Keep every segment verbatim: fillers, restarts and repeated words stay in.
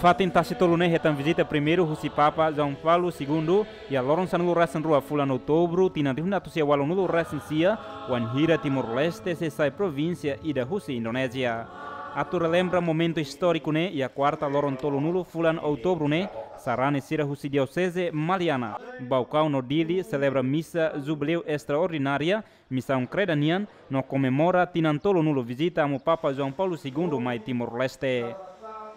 Fatin Tasi Tolu ne'e hetan vizita primeiru husi Papa João Paulo Segundo iha loron sanulu-resin-rua fulan Outubru tinan rihun atus sia ualunulu-resin-sia, wainhira Timor-Leste sei sai provínsia ida husi Indonézia. Atu relembra momentu istóriku ne'e, iha kuarta loron tolunulu fulan Outubru ne'e, sarani sira husi Dioseze Maliana, Baucau no Dili selebra misa jubileu estraordinária, misaun kreda nian, no komemora tinan tolunulu vizita Amu Papa João Paulo Segundo mai Timor-Leste.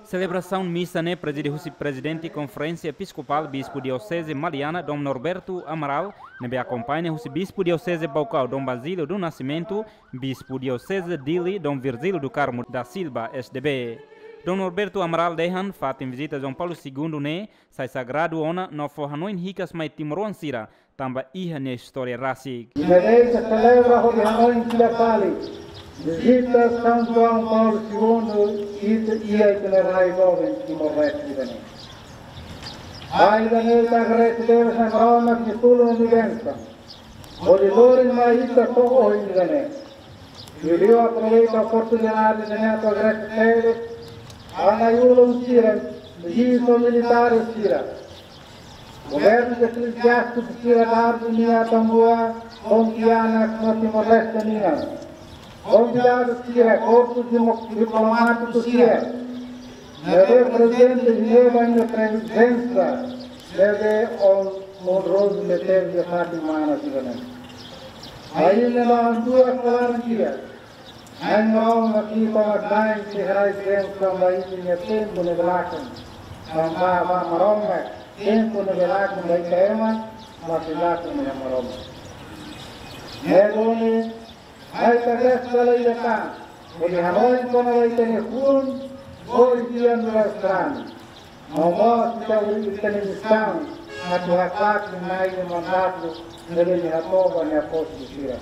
Selebrasaun misa ne'e prezide husi Prezidente Konferénsia Episkopál Bispu Dioseze Maliana Dom Norberto Amaral, ne'ebé akompaña husi Bispu Dioseze Baucau Dom Basílio do Nascimento, Bispu Dioseze Dili Dom Virgílio do Carmo da Silva, S D B. Dom Norberto Amaral dehan fatin vizita João Paulo Segundo ne'e sai sagradu ona no fó hanoin hikas mai timoroan sira tanba iha nia istória rasik. Ita selebra hodi hanoin fila fali vizita São João Paulo Segundo iha ita-nia rai joven Timor-Leste ida-ne'e. Ba ida-ne'e ita agradese Maromak nia tulun no bensaun hodi lori mai ita to'o ohin ida-ne'e. Liuliu aproveita oportunidade ida-ne'e atu agradese ba na'i-ulun sira, ministru militár sira, governu, eklesiástiku sira, dardu nia tambua, konfiansa no Timor-Leste nian, konvidadu sira, korpu dimo-, diplomátiku sira, ne'ebé prezente, ne'ebé nia prezensa ne'ebé on-, onrozu ne'e teve iha fatin mana sira-ne'e. Ainda no antua kalaran dia, Na'i Maromak ita mak Na'i sei haraik bensaun ba ita-nia tempu ne'ebé lakon. Tanba Maromak tempu ne'ebé lakon ba ita ema, mas sei lakon iha Maromak. Ne'e duni, mai ita agradese ba ita, hodi hanoin kona-ba ita-nia fuan, hodi tian durasrani. No mós ita ita-nia misaun atu haklaken Na'i nia mandatu ne'ebé nia hato'o ba nia apóstolu sira.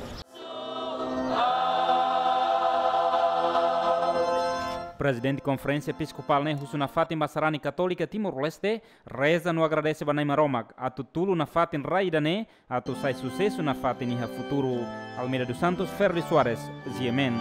Prezidente Konferénsia Episkopál ne'e husu nafatin ba sarani Katólika Timor-Leste, reza no agradese ba Na'i Maromak atu tulun nafatin rai ida-ne'e atu sai susesu nafatin iha futuru. Almeida dos Santos, Ferdi Soares, G M N.